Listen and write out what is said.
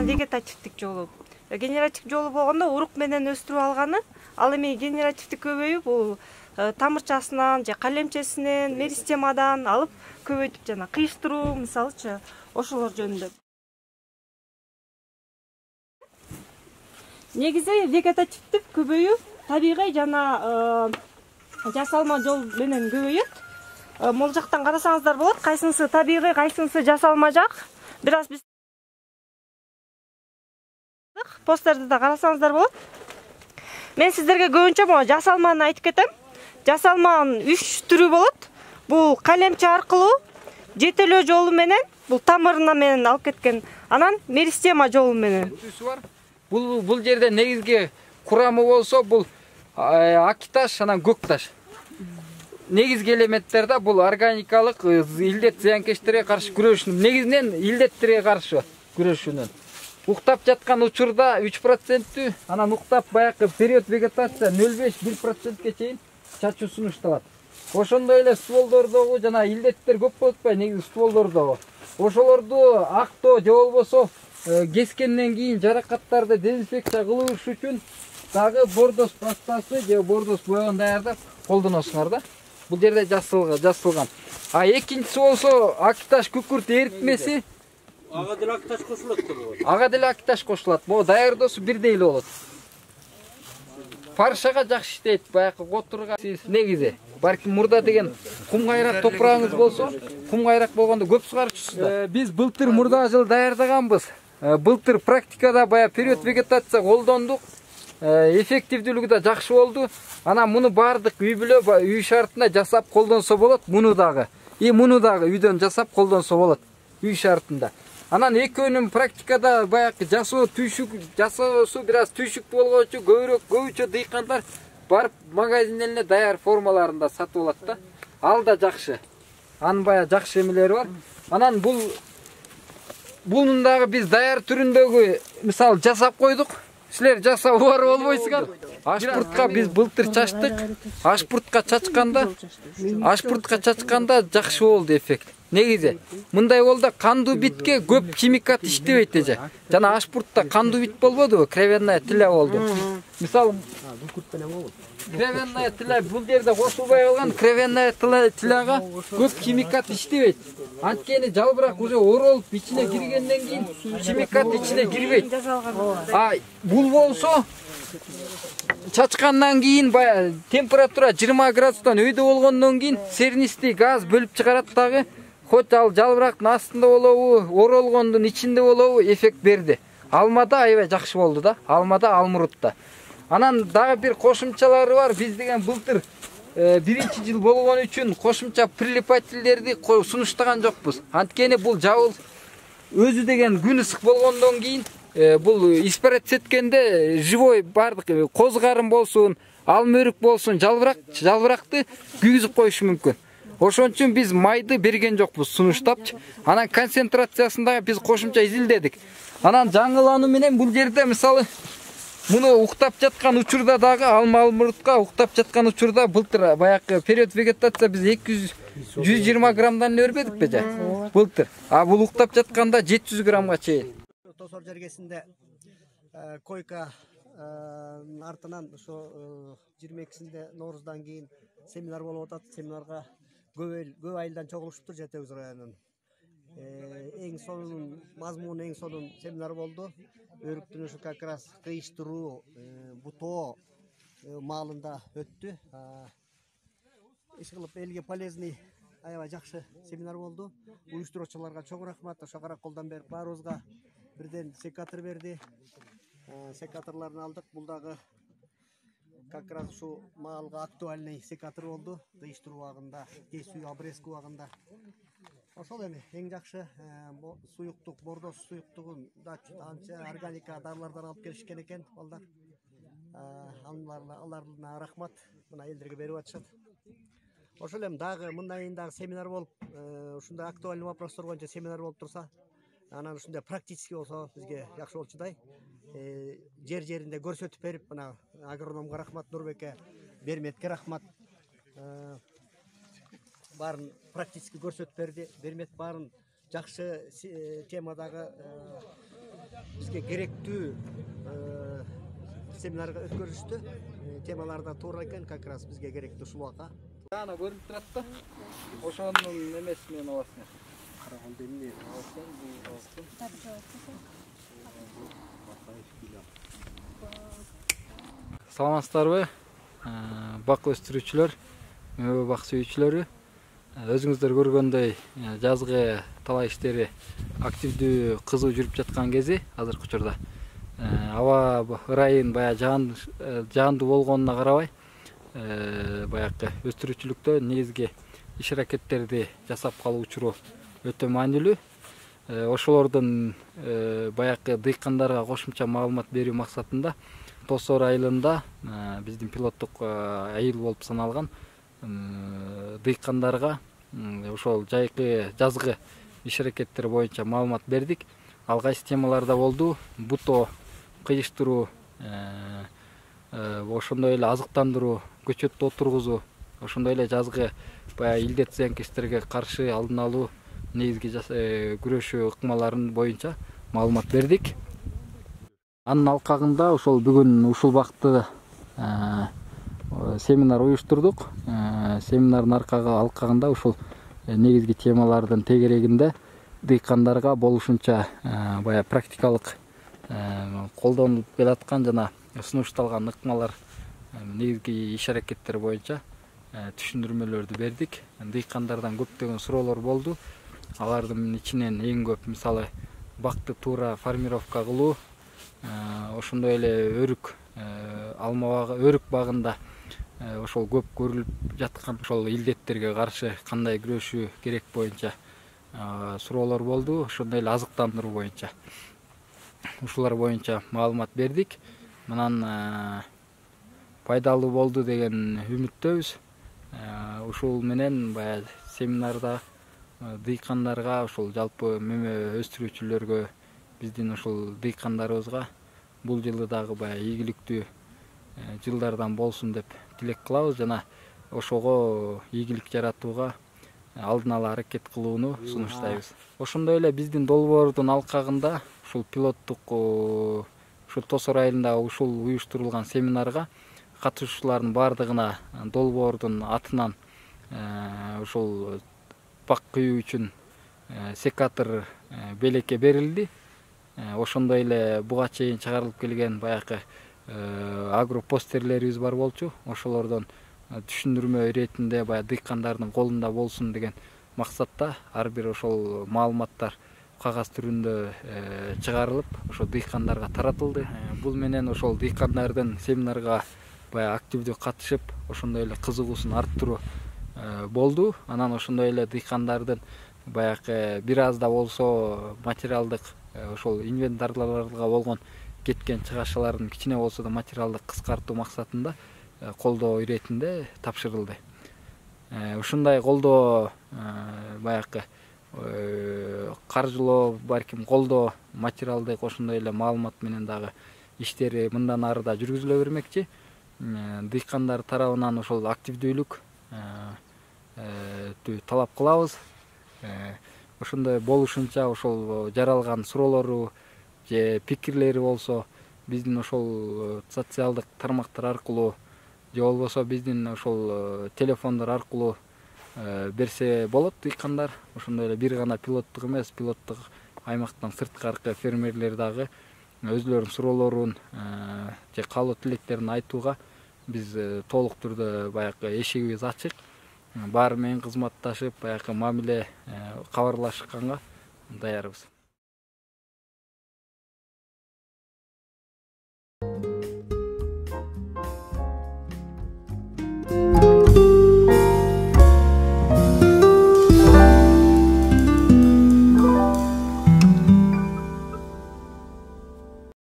Вегетативдик жолу. Генеративдик жолу болгондо урук менен өстүрүп алганы, ал эми генеративдик көбөйүп, бул тамырчасынан же калемчесинен, меристемадан алып көбөйтүп жана кыйыштыруу, мисалычы, ошолор жөнүндө. Негизи вегетативдик көбөйүү табигый жана жасалма жол менен көбөйөт. Могул жактан карасаңыздар болот, кайсынысы табигый, кайсынысы жасалма жак. Бир аз биз постерди да карасаңыздар болот. Мен сиздерге көбүнчө могу жасалманы айтып кетем. Жасалманын 3 түрү болот. Бул калемче аркылуу, жетелөө жолу менен, бул тамырына менен алып кеткен, анан меристема жолу менен. Бул жерде негизги курамы болсо, бул ак таш, анан көк таш. Негизги элементтер да бул органикалык илдет зыянкечтерге каршы күрөшүү. Негизинен илдеттерге каршы күрөшүүнүн. Уктап жаткан учурда 3%, анан уктап баягы период вегетация 0,5-1%ке чейин чачуу сунушталат. Ошондой эле стволдордогу жана илдеттер көп болуп атпайбы, негизи стволдордогу. Ошолорду актоо же болбосо кескенден кийин жаракаттарды дезинфекция кылыш үчүн дагы бордос пастасы же бордос боягын даярдап колдоносуңар да. Бул жерде жасалган. А экинчиси болсо ак таш күкүрт эритмеси. Ага деле ак таш кошулат да болот. Ага деле ак таш кошулат. Бул даярдоосу бирдей эле болот. Паршага жакшы иштейт, баягы которга негизи. Балким мурда деген кум кайрак топурагыңыз болсо, кум кайрак болгондо көп сугарчусуз да. Биз былтыр мурда жыл даярдаганбыз. Былтыр практикада баягы период вегетация колдондук. Эффективдүүлүгү да жакшы болду. Анан муну бардык үй бүлө, үй шартына жасап колдонсо болот, муну дагы. Муну дагы үйдөн жасап колдонсо болот, үй шартында. Анан экөөнүн практикада баягы жасоосу бир аз түйшүктүү болгочу көбүчө дыйкандар барып магазинден эле даяр формаларында сатып алат да. Ал да жакшы. Анын баягы жакшы эмелери бар. Анан бунун дагы биз даяр түрүндөгү мисалы жасап койдук. Силер жасап барып болбойсуңар. Ашпуртка биз былтыр чачтык. Ашпуртка чачканда жакшы болду эффект. Негизи мындай болду, кандуу битке көп химикат иштебейт эже. Жана ашпуртта кандуу бит болбодубу? Кровенная тиля болду. Мисалы кровенная тиля бул жерде кошулбай калган, кровенная тиляга көп химикат иштебейт. Анткени жалбырак уже оролуп ичине киргенден кийин химикат ичине кирбейт. Бул болсо чачкандан кийин баягы температура 20 градустан өйдө болгондон кийин сернистий газ бөлүп чыгарат дагы. Хоть ал жалбырактын астында болобу, оролгондун ичинде болобу эффект берди. Алмада аябай жакшы болду да, алмада, алмурутта. Анан дагы бир кошумчалары бар. Биз деген былтыр биринчи жыл болгон үчүн кошумча прилипательдерди сунуштаган жокпуз. Анткени бул жабыл өзү деген күн ысык болгондон кийин бул испарец эткенде живой бардык коз карын болсун, алмөрүк болсун, жалбыракты күйгүзүп коюшу мүмкүн. Ошон үчүн биз майды берген жокпуз сунуштапчы. Анан концентрациясын дагы биз кошумча изилдедик. Анан жаңылануу менен бул жерде мисалы муну уктап жаткан учурда дагы алмурутка уктап жаткан учурда былтыр баягы период вегетация биз 120 граммдан эле бербедикпи же? Былтыр. Бул уктап жатканда 700 граммга чейин. Тосор жергесинде койка артынан ошо 22-синде Нооруздан кийин семинар болуп атат. Семинарга көп айылдан чогулуштур Жетебиз районунун. Эң сонун мазмуну эң сонун семинар болду. Өрүктүн ушу как раз кыйыштыруу, бутоо маалында өттү. Иш кылып элге полезный аябай жакшы семинар болду. Уюштуруучуларга чоң рахмат. Ошо караколдон берип баарыбызга бирден секатор берди. Секаторлорун алдык. Бул дагы как раз ушу маалга актуальный секатор болду. Кыйыштыруу убагында, кесүү, обрезка убагында. Ошол эми эң жакшы суюктук, бордос суюктугун да анча органика дарылардан алып келишкен экен балдар. аларына рахмат, мына элдерге берип атышат. Ошол эми дагы мындан кийин дагы семинар болуп, ушундай актуальный вопростор боюнча семинар болуп турса, анан ушундай практический болсо бизге жакшы болчудай. Жеринде көрсөтүп берип, мына агрономго рахмат, Нурбекке, Берметке рахмат. Баарын практически көрсөтүп берди. Бермет баарын жакшы темадагы бизге керектүү семинарга өткөрүштү. Темалар да туура экен, как раз бизге керектүү ушул ака. Ана көрүнүп турат да. Ошонун эмеси менен аласың. Караганда эмне Алсаң, бул алсаң. Саламатсыздарбы? Бак өстүрүүчүлөр, мөбө бак сүйүүчүлөрү. Өзүңүздөр көргөндөй, жазгы талай иштери активдүү, кызуу жүрүп жаткан кези азыркы учурда. Аба ырайын бая жаандуу болгонуна карабай, баягы өстүрүүчүлүктө негизги иш аракеттерди жасап калуу учуру өтө маанилүү. Ошолордун баягы дыйкандарга кошумча маалымат берүү максатында Тосор айылында биздин пилоттук айыл болуп саналган дыйкандарга ошол жазгы иш аракеттери боюнча маалымат бердик. Ал кайсы темаларда болду? Буто кыйыштыруу, ошондой эле азыктандыруу, көчөттү отургузуу, ошондой эле жазгы баягы илдет зыянкечтерге каршы алдын алуу, негизги күрөшүү ыкмаларын боюнча маалымат бердик. Анын алкагында ошол бүгүн ушул убакытта семинар уюштурдук. Семинардын алкагында ушул негизги темалардын тегерегинде дыйкандарга болушунча баягы практикалык колдонулуп келаткан жана сунушталган ыкмалар, негизги иш аракеттер боюнча түшүндүрмөлөрдү бердик. Дыйкандардан көптөгөн суроолор болду. Алардын ичинен эң көп мисалы бакты туура формировка кылуу, ошондой эле өрүк өрүк багында ошол көп көрүлүп жаткан ошол илдеттерге каршы кандай күрөшүү керек боюнча суроолор болду. Ошондой эле азыктандыруу боюнча. Ушулар боюнча маалымат бердик. Мынан пайдалуу болду деген үмүттөбүз. Ушул менен баягы семинарда дыйкандарга, ошол жалпы мөмө өстүрүүчүлөргө, биздин ушул дыйкандарыбызга бул жылы дагы баягы ийгиликтүү жылдардан болсун деп тилек кылабыз жана ошого ийгилик жаратууга алдын ала аракет кылууну сунуштайбыз. Ошондой эле биздин долбоордун алкагында ушул пилоттук ушул Тосор айылында ушул уюштурулган семинарга катышуучулардын баардыгына долбоордун атынан ушул бак күйүү үчүн секатор белекке берилди. Ошондой эле буга чейин чыгарылып келген баягы агропостерлерибиз бар болчу. Ошолордон түшүндүрмө иретинде баягы дыйкандардын колунда болсун деген максатта ар бир ошол маалыматтар кагаз түрүндө чыгарылып, ошо дыйкандарга таратылды. Бул менен ошол дыйкандардын семинарга баягы активдүү катышып, ошондой эле кызыгуусун арттыруу болду. Анан ошондой эле дыйкандардын баягы бир аз да болсо материалдык ошол инвентарларга болгон кеткен чыгашаларын кичине болсо да материалдык кыскартуу максатында колдоо иретинде тапшырылды. Ушундай колдоо баягы каржылоо, балким колдоо, материалдык ошондой эле маалымат менен дагы иштери мындан ары да жүргүзүлө бермекчи. Дыйкандар тарабынан ошол активдүүлүк талап кылабыз. Ошондой болушунча ошол жаралган суроолору же пикирлери болсо биздин ошол социалдык тармактар аркылуу же болбосо биздин ошол телефондор аркылуу берсе болот. Дыйкандар ошондой эле бир гана пилоттук эмес, пилоттук аймактан сырткаркы фермерлер дагы өзүлөрүнүн суроолорун же каалоо тилектерин айтууга биз толук түрдө баягы эшигибиз ачык. Баары менен кызматташып, баягы мамиле кабарлашканга даярбыз.